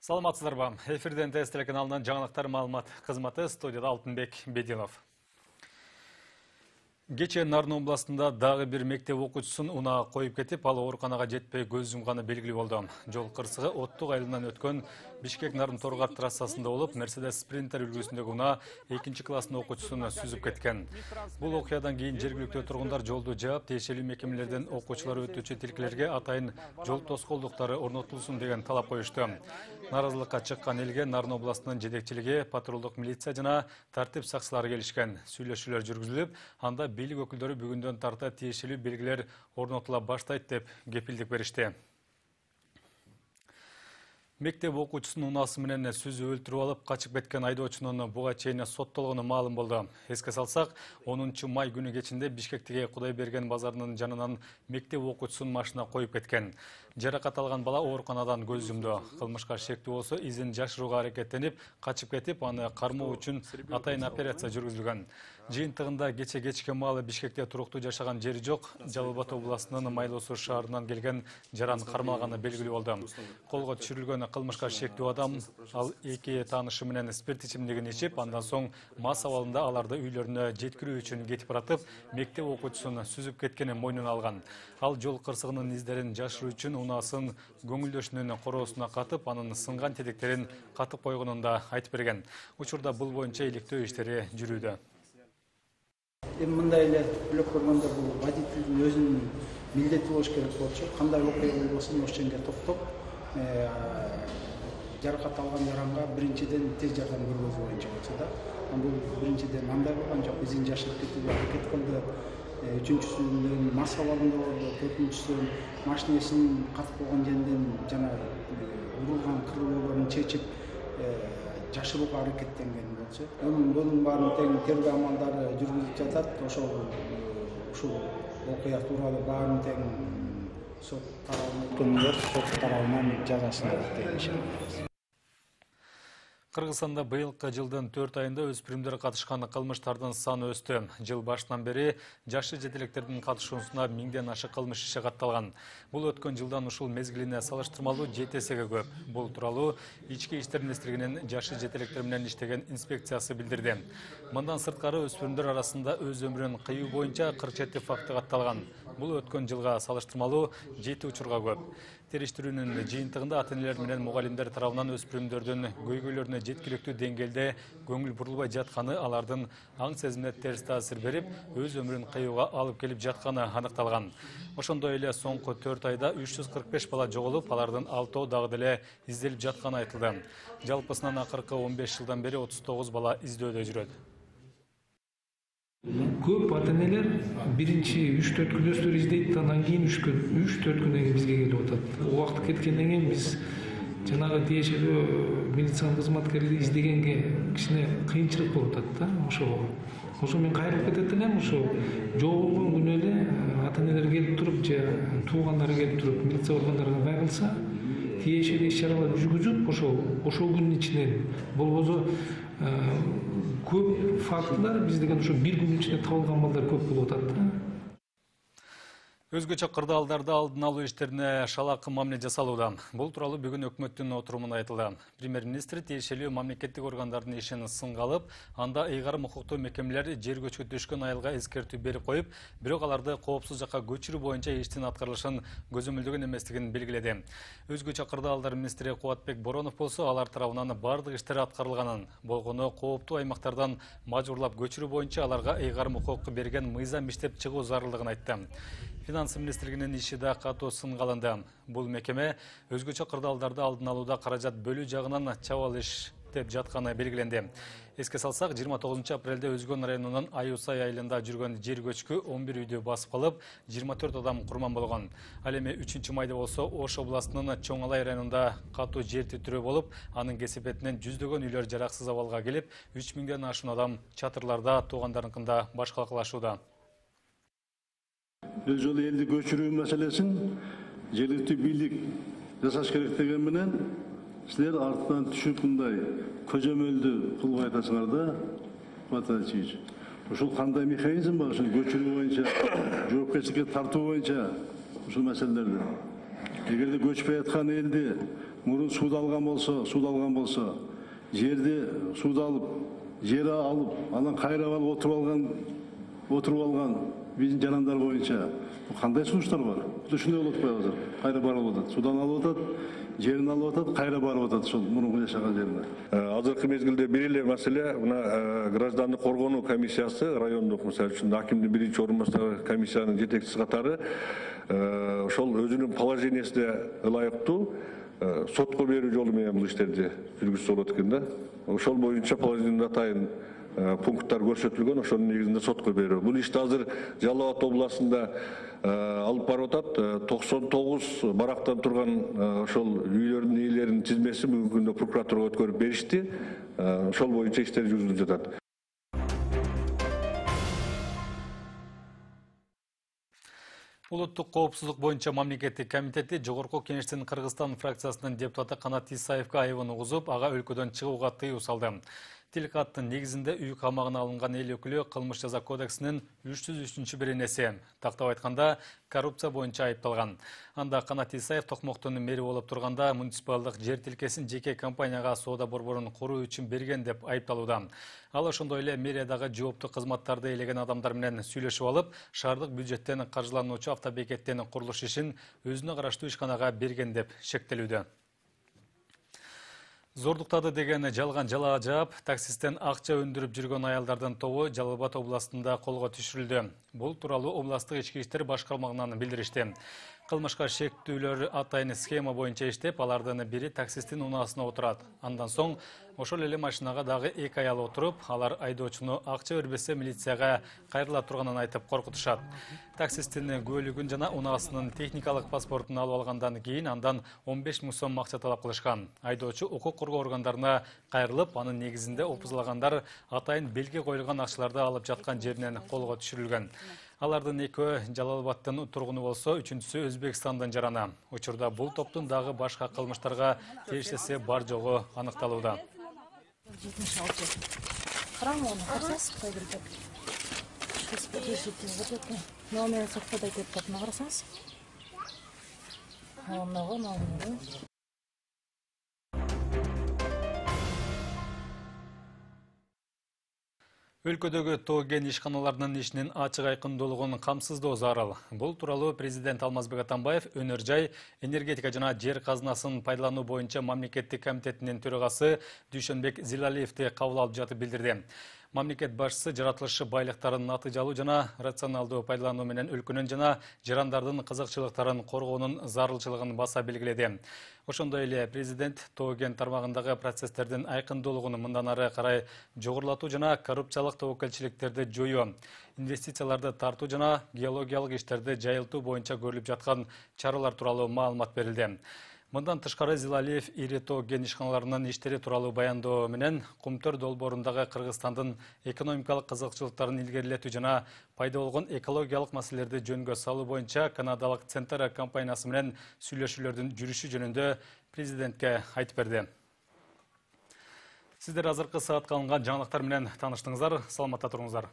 Саламатсыздарбы? Эфирден ТС телеканалынын жаңылыктар маалымат кызматы, студияда Алтынбек Бединов. Кечээ Нарын областында дагы бир мектеп окуучусун унаа коюп кетип, ал ооруканага жетпей көз жумганы белгилүү болду. Жол кырсыгы Оттук айылынан өткөн Бишкек-Нарын Торгар трассасында болуп, Mercedes Sprinter үлгүсүндөгү унаа 2-класстын окуучусун сүзүп кеткен. Бул окуядан кийин жергиликтүү тургундар жолду жаап, тиешелүү мекемелерден окуучулар өтүүчү тилкелерге атайын жол тоскоолдуктары орнотулсун деген талап коюшту. Наразылыкка чыккан элге Нарын областынын жетекчилиги, патрулдук милиция жана тартип сакчылары келишкен. Сүйлөшүүлөр жүргүзүлүп, анда бийлик өкүлдөрү бүгүндөн тарта тиешелүү белгилер орнотула баштайт деп кепилдик беришти. Мектеп окуучусунун унаасы менен сүзүп өлтүрүп алып качып кеткен айдоочунун буга чейин соттолгону маалым болду. Эске салсак, 10 май күнү кечинде Бишкектеги Кудайберген базарынын жанынан мектеп окуучусун машина коюп кеткен. Жаракат алган бала ооруканадан көз жумду. Кылмышка шектүү болсо изин жашырууга аракеттенип, качып кетип, аны кармоо үчүн атайын операция жүргүзүлгөн. Жыйынтыгында кече маалы Бишкекте туруктуу жашаган жери жок, Жалал Абад областынын Майлуу Суу шаарынан келген жаран кармалганы белгилүү болду. Колго түшүрүлгөн кылмышка шектүү адам ал 2 таанышы менен спирт ичимдигин ичип, андан соң мас абалында аларды үйлөрүнө жеткирүү үчүн кетип баратып, мектеп окуучусун сүзүп кеткенин мойнуна алган. Ал жол кырсыгынын издерин жашыруу үчүн унаасын көңүлдөшүнүн короосуна катып, анын сынган тетектерин катып койгонун да айтып берген. Учурда бул боюнча иликтөө иштери жүрүүдө. Мындай эле бөлөк көргөндө бул водительдин өзүнүн милдети болуш керек болчу. Кандай окуя болбосун ошол жерге токтоп, жаракат алган жаранга биринчиден тез жардам көргөзүү боюнча болчу да. Бул биринчиден андай болгон жок, изин жашырып кетүүгө аракет кылды. Үчүнчүсүнөн мас абалында болду, төртүнчүсү машинесин катып койгон жерден жана урулган кырлоолорун чечип жашырууга аракеттенген болчу. Bunun баарын тең тергөө амалдары жүргүзүлүп жатат. Ушул окуя тууралуу баарын тең сот тарабынан жазасын алат. Кыргызстанда быйылкы жылдын 4 айында өспүрүмдөр катышкан кылмыштардын саны өстү. Жыл башынан бери жашы жетелектердин катышуусуна 1000ден ашык кылмыш иши катталган. Бул өткөн жылдан ушул мезгилине салыштырмалуу 7 эсеге көп. Бул тууралуу Ички иштер министрлигинин жашы жетелектер менен иштеген инспекциясы билдирди. Мындан сырткары өспүрүмдөр арасында өз өмүрүн кыюу боюнча 47 факты катталган. Бул өткөн жылга салыштырмалуу 7 учурга көп. Териштирүүнүн жыйынтыгында ата-энелер менен мугалимдер тарабынан өспүрүмдөрдүн көйгөйлөрүнө жеткиликтүү деңгээлде көңүл бурулбай жатканы, алардын аң сезимине терс таасир берип, өз өмүрүн кыюуга алып келип жатканы аныкталган. Ошондой эле соңку 4 айда 345 бала жоголуп, алардын 6 дагы деле изделип жатканы айтылды. Жалпысынан акыркы 15 жылдан бери 39 бала издөөдө жүрөт. Көп ата-энелер биринчи 3-4 күн өстөр издейт, андан кийин 3-4 күндөн кийин бизге келип атат. Убакыт кеткенден кийин биз жанагы тиешелүү милициянын кызматкерлери издегенге кичине кыйынчылык болуп атат да. Ошо мен кайрылып кетет элем, ошо жоголгон күнү эле ата-энелер келип туруп, же туугандары келип туруп милиция органдарына байкалса, тиешелүү иш-чаралар жүргүзүп, ошол күнүн ичинен болбосо көп фактылар биздеген ошо бир күнүн ичинде табылган балдар көп болуп атат да. Өзгөчө кырдаалдарда алдын алуу иштерине шалакы мамиле жасалууда. Бул тууралуу бүгүн өкмөттүн отурумунда айтылды. Премьер-министр тиешелүү мамлекеттик органдардын ишин сынга алып, анда ыйгарым укуктуу мекемелер жер көчкү түшкөн айылга эскертүү берип коюп, бирок аларды коопсуз жакка көчүрүү боюнча иштин аткарылышын көзөмөлдөгөн эместигин белгиледи. Өзгөчө кырдаалдар министри Кубатбек Боронов болсо, алар тарабынан бардык иштер аткарылганын, болгону кооптуу аймактардан мажбурлап көчүрүү боюнча аларга ыйгарым укук берген мыйзам иштеп чыгуу зарылдыгын айтты. Финанс министрлигинин иши да катуу сынга алынды. Бул мекеме өзгөчө кырдаалдарды алдын алууда каражат бөлүү жагынан чабал иштеп жатканы белгиленди. Эске салсак, 29 апрелде Өзгөн районунун Аюсай айылында жүргөн жер көчкү 11 үйдү басып калып, 24 адам курман болгон. Ал эми 3 майда болсо Ош областынын Чоң Алай районунда катуу жер титирөө болуп, анын кесепетинен жүздөгөн үйлөр жараксыз абалга келип, 3000ден ашуун адам чатырларда туугандарыныкында баш калкалашууда. Бул жолу элди көчүрүү маселесин жергиликтүү бийлик жасаш керек деген менен силер артынан түшүп мындай көзөмөлдү кылбай атасыңар да, Матачич. Ушул кандай механизм бар, ушул көчүрүү боюнча, жоопкерчиликке тартуу боюнча ушул маселелерди. Эгерде көчпөй аткан элди мурун сууду алган болсо, жерди сууду алып, жер алып, анан кайрап алып отуруп алган биздин жарандар боюнча кандай сунуштар бар? Ушундай болуп атпайбы азыр? Кайра барып атат. Судан алып атат, жерин алып атат, кайра барып атат ошол мурунку жашаган жерине. Азыркы мезгилде бир эле маселе, мына граждандык коргонуу комиссиясы, райондук, мисалы үчүн акимдин биринчи орун басары комиссиянын жетекчиси катары ошол өзүнүн положениясына ылайыктуу сотко берүү жолу менен бул иштерди жүргүзсө болот экен да. Ошол боюнча положениянын атайын пункттар көрсөтүлгөн, ошонун негизинде сотко берүү. Бул ишти азыр Жалал Абад областында алып барып атат. 99 барактан турган ошол үйлөрдүн ээлеринин тизмеси бүгүнкү күндө прокуратурага өткөрүп беришти. Ошол боюнча иштер жүргүзүлүп жатат. Улуттук коопсуздук боюнча мамлекеттик комитети Жогорку Кеңештин Кыргызстан фракциясынын депутаты Канат Исаевге айыбын угузуп, ага өлкөдөн чыгууга тыюу салды. Тилкаттын негизинде үй камагына алынган эл өкүлү кылмыш жаза кодексинин 303-беренеси, тактап айтканда, коррупция боюнча айыпталган. Анда Канат Исаев Токмоктун мэри болуп турганда муниципалдык жер тилкесин жеке компанияга соода борборун куруу үчүн берген деп айыпталууда. Ал ошондой эле мэриядагы жооптуу кызматтарды ээлеген адамдар менен сүйлөшүп алып, шаардык бюджеттен каржылануучу автобекеттин курулуш ишин өзүнө караштуу ишканага берген деп шектелүүдө. Зордуктады деген жалган жала жаап, таксисттен акча өндүрүп жүргөн аялдардын тобу Жалал Абад областында колго түшүрүлдү. Бул тууралуу областтык ички иштер башкармагынан билдиришти. Кылмышка шектүүлөр атайын схема боюнча иштеп, алардын бири таксисттин унаасына отурат. Андан соң ошол эле машинага дагы 2 аял отуруп, алар айдоочуну акча бербесе милицияга кайрыла турганын айтып коркутушат. Таксисттин көлүгүн жана унаасынын техникалык паспортун алып алгандан кийин андан 15 000 сом акча талап кылышкан. Айдоочу укук коргоо органдарына кайрылып, анын негизинде опузлагандар атайын белги коюлган акчаларды алып жаткан жеринен колго түшүрүлгөн. Алардын экөө Жалал Абадтын тургуну болсо, үчүнчүсү Өзбекстандын жараны. Учурда бул топтун дагы башка кылмыштарга тиешеси бар жогу аныкталууда. Өлкөдөгү тоо-кен ишканаларынын ишинин ачык айкындуулугун камсыздоо зарыл. Бул тууралуу президент Алмазбек Атамбаев өнөр жай, энергетика жана жер казынасын пайдалануу боюнча мамлекеттик комитетинин төрагасы Дүйшөнбек Зилалиевди кабыл алып жатып билдирди. Мамлекет башчысы жаратылышы байлыктарын натыйжалуу жана рационалдуу пайдалануу менен өлкөнүн жана жарандардын кызыкчылыктарын коргоонун зарылчылыгын баса белгиледи. Ошондой эле президент тоо-кен тармагындагы процесстердин айкындуулугун мындан ары карай жогорулатуу жана коррупциялык тобокелчиликтерди жоюу, инвестицияларды тартуу жана геологиялык иштерди жайылтуу боюнча көрүлүп жаткан чаралар тууралуу маалымат берилди. Мындан тышкары Зилалиев ири тоо-кен ишканаларынын иштери тууралуу баяндоо менен Кумтөр долбоорундагы Кыргызстандын экономикалык кызыкчылыктарын илгерилетүү жана пайда болгон экологиялык маселелерди жөнгө салуу боюнча канадалык Центра компаниясы менен сүйлөшүүлөрдүн жүрүшү жөнүндө президентке айтып берди. Сиздер азыркы саатка алынган жаңылыктар менен тааныштыңыздар. Саламатта туруңуздар.